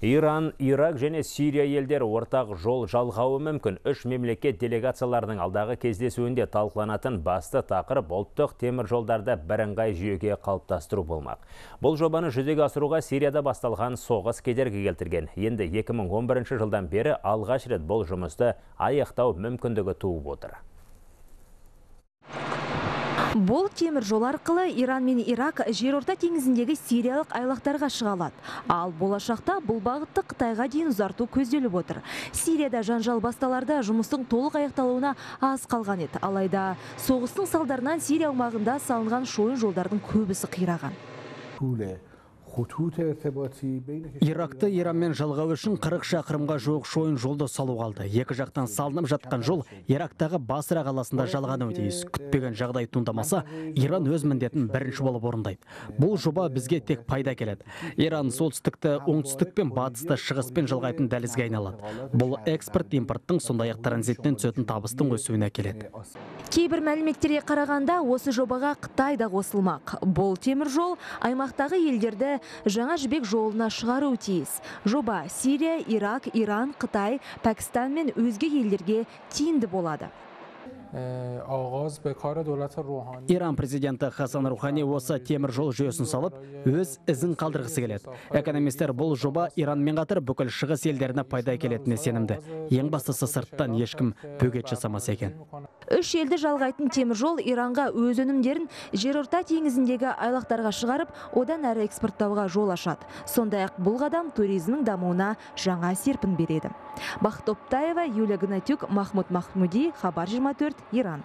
Иран, Ирак және Сирия елдері ортақ жол жалғауы мүмкін. Үш мемлекет делегацияларының алдағы кездесуінде талқыланатын басты тақырып ұлттық темір жолдарды бірыңғай жүйеге қалыптастыру болмақ. Бұл жобаны жүзеге асыруға Сирияда басталған соғыс кедергі келтірген. Енді 2011 жылдан бері алғаш рет бұл жұмысты аяқтау мүмкіндігі туып отыр. Бұл темір жол арқылы Иран мен Ирак жерорта теңізіндегі сириялық айлақтарға шыға алады. Ал болашақта бұл бағытты Қытайға дейін ұзарту көзделіп отыр. Сирияда жанжал басталарда жұмыстың толық аяқталуына аз қалған еді. Алайда соғыстың салдарынан Сирия аумағында салынған шойын жолдардың көбісі қираған. Иракты Иранмен жалғау үшін 40 шақырымға жуық шойын жолды салу қалды. Екі жақтан салынып жатқан жол Ирактағы Басра қаласында жалғануы тиіс. Күтпеген жағдай туындамаса, Иран өз міндетін бірінші болып орындайды. Бұл жоба бізге тек пайда келеді. Иран солтүстікті оңтүстік пен батысты шығыспен жалғайтын дәлізге айналады. Бұл экспорт импорттың сондай-ақ транзиттен түсетін табыстың өсуіне келеді. Кейбір мәліметтерге қарағанда осы жобаға Қытай да қосылмақ. Бұл темір жол аймақтағы елдерді жаңа жібек жолына шығару тиіс. Жоба Сирия, Ирак, Иран, Қытай, Пәкістан мен өзге елдерге тиімді болады. Иран президенті Хасан Рухани осы темір жол жүйесін салып, өз ізін қалдырғысы келеді. Экономистер бұл жоба Иранмен қатар бүкіл шығыс елдеріне пайда келетініне сенімді. Ең бастысы сырттан ешкім бөгет жасамас екен. Үш елді жалғайтын темір жол Иранға өз өнімдерін жерорта теңізіндегі айлақтарға шығарып, одан әрі экспорттауға жол ашады. Сондай-ақ бұл қадам туризмнің дамуына жаңа серпін береді. Бақыт Оптаева, Юлия Гнатюк, Махмуд Махмуди, Хабар 24, Иран.